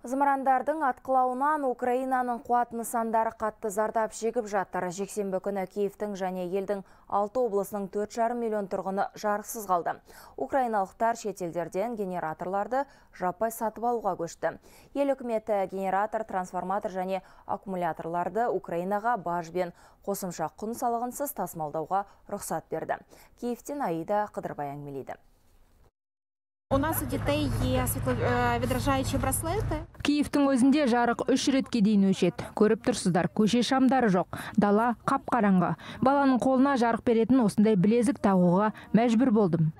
Зымырандардың атқылауынан Украинаның қуат нысандары қатты зардап шегіп жатыр. Жексенбі күні Киевтің және елдің 6 облысының 4,5 миллион тұрғыны жарықсыз қалды. Украиналықтар шетелдерден генераторларды жаппай сатып алуға көшті. Ел үкіметі генератор, трансформатор және аккумуляторларды Украинаға бажбен қосымша құн салығынсыз тасымалдауға рұқсат берді. Киевтен Аида Қыдырбай әңгімелейді. У нас у детей є світловідражаючі браслети. Киевтің өзінде жарық 3 ретке дейін өшеді. Көріп тұрсыздар, көше шамдары жоқ. Дала қап-қараңғы. Баланың қолына жарық беретін осындай білезік тағуға мәжбүр болдым.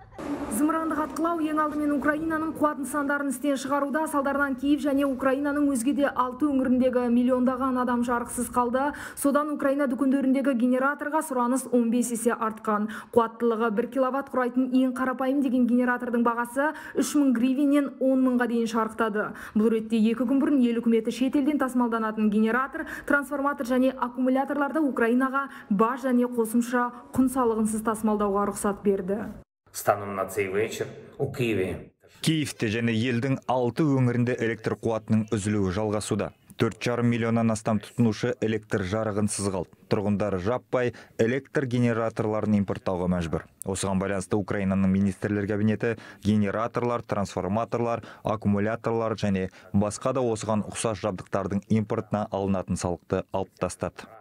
Зымырандық атқылау ең алдымен Украинаның қуат нысандарын істен шығаруда. Салдарынан Киев және Украинаның өзгеде 6 өңіріндегі миллиондаған адам жарықсыз қалды. Содан Украина дүкендеріндегі генераторға сұраныс 15 есе артқан. Қуаттылығы 1 киловатт құрайтын ең қарапайым деген генератордың бағасы 3000 гривеннен 10 мыңға дейін шарықтады. Бұл ретте 2 күн бұрын ел үкіметі шетелден тасымалданатын генератор, трансформатор және аккумуляторларды Украинаға баж және қосымша құн салығынсыз тасымалдауға рұқсат берді. Станом на цей вечір у Києві. Киевте және елдің 6 өңірінде электр қуатының үзілуі жалғасуда. 4,5 миллионнан астам тұтынушы электр жарығынсыз қалды. Тұрғындары жаппай электр генераторларын импорттауға мәжбүр. Осыған байланысты Украинаның министрлер кабинеті генераторлар, трансформаторлар, аккумуляторлар және басқа да осыған ұқсас жабдықтардың импортына алынатын салықты алып тастады.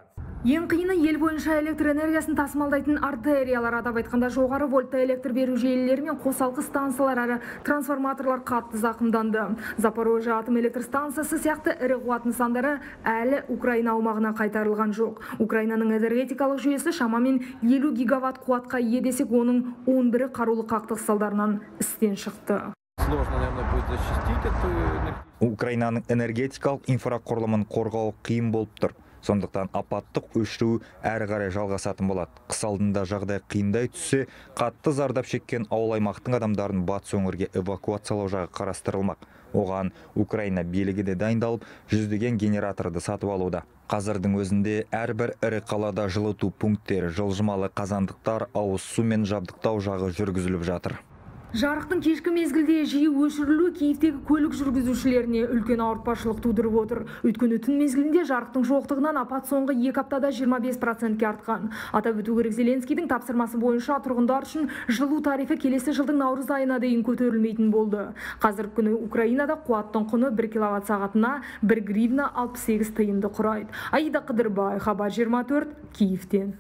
Ең қиыны ел бойынша электр энергиясын тасымалдайтын артериялар, атап айтқанда жоғары вольтты электр беру желілері мен қосалқы станциялар әрі трансформаторлар қатты зақымданды. Запорожье атом электр станциясы сияқты ірі қуат нысандары әлі Украина аумағына қайтарылған жоқ. Украинаның энергетикалық жүйесі шамамен 50 гигаватт қуатқа ие десек, оның 11-і қарулы қақтығыс салдарынан істен шықты. Украинаның энергетикалық инфрақұрылымын қорғау қиын болып тұр. Сондықтан апаттық өшіру әрі қарай жалғасатын болады. Қыс алдында жағдай қиындай түссе, қатты зардап шеккен ауыл аймақтың адамдарын батыс өңірге эвакуациялау жағы қарастырылмақ. Оған Украина билігі де дайындалып, жүздеген генераторды сатып алуда. Қазірдің өзінде әрбір ірі қалада жылыту пункттері, жылжымалы қазандықтар, ауыз сумен жабдықтау жағы жүргізіліп жатыр. Жарықтың кешкі мезгілде жиі өшірілуі Киевтегі көлік жүргізушілеріне үлкен ауыртпашылық тудырып отыр. Өйткені түн мезгілінде жарықтың жоқтығынан апат соңғы 2 аптада 25%-ке артқан. Атап өту керек, Зеленскийдің тапсырмасы бойынша тұрғындар үшін жылу тарифі келесі жылдың наурыз айына дейін көтерілмейтін болды. Қазіргі күні Украинада қуаттың құны 1 киловатт сағатына 1 гривна 68 тиынды құрайды. Аида Қыдырбай, Хабар 24, Киевтен.